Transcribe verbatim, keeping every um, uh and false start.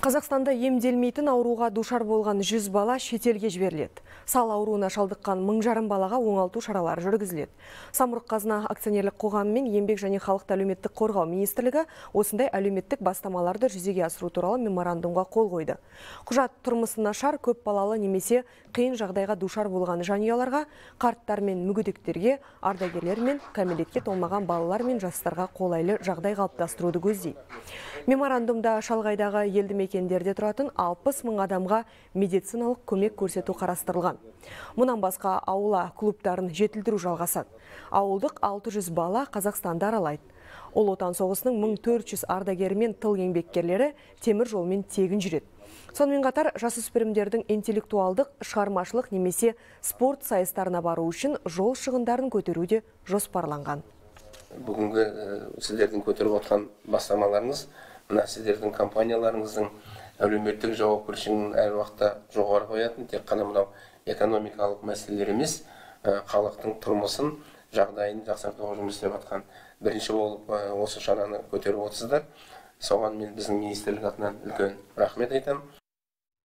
Қазақстанда емделмейтін ауруға душар болған жүз бала шетелге жіберіледі. Сал ауруына шалдыққан мың жарым балаға оңалту шаралары жүргізіледі. Самұрық қазына акционерлік қоғамы мен еңбек және халықты әлеуметтік қорғау министрлігі осындай әлеуметтік бастамаларды жүзеге асыру туралы меморандумға қол қойды. Құжат тұрмысы нашар, көп балалы немесе қиын жағдайға душар болған жанұяларға, қарттар мен мүгедектерге, ардагерлер мен кәмелетке толмаған балалар мен жастарға қолайлы жағдай қалыптастыруды көздейді. Меморандумда шалғайдағы елді мекендерде тұратын алпыс мың адамға медициналық көмек көрсету қарастырылған. Мұнан басқа аула клубтарын жетілдіру жалғасады. Ауылдық алты жүз бала Қазақстанды аралайды. Ұлы Отан соғысының мың төрт жүз ардагері мен тыл еңбеккерлері темір жолмен тегін жүреді. Сонымен қатар жасөспірімдердің интеллектуалдық, шығармашылық немесе спорт сайыстарына бару үшін жол шығындарын көтеруде жоспарланған. Бүгінгі сіздердің көтеріп отқан бастамаларыңыз, мына сіздердің компанияларыңыздың әлеуметтік жауапкершілігін әр уақытта жоғары қоятын, тек қана мынау экономикалық мәселелер емес, халықтың тұрмысын, жағдайын жақсартуға жұмыс істеп жатқан бірінші болып осы шараны көтеріп отырсыздар. Соған мен біздің министрлік атынан үлкен рахмет айтамын.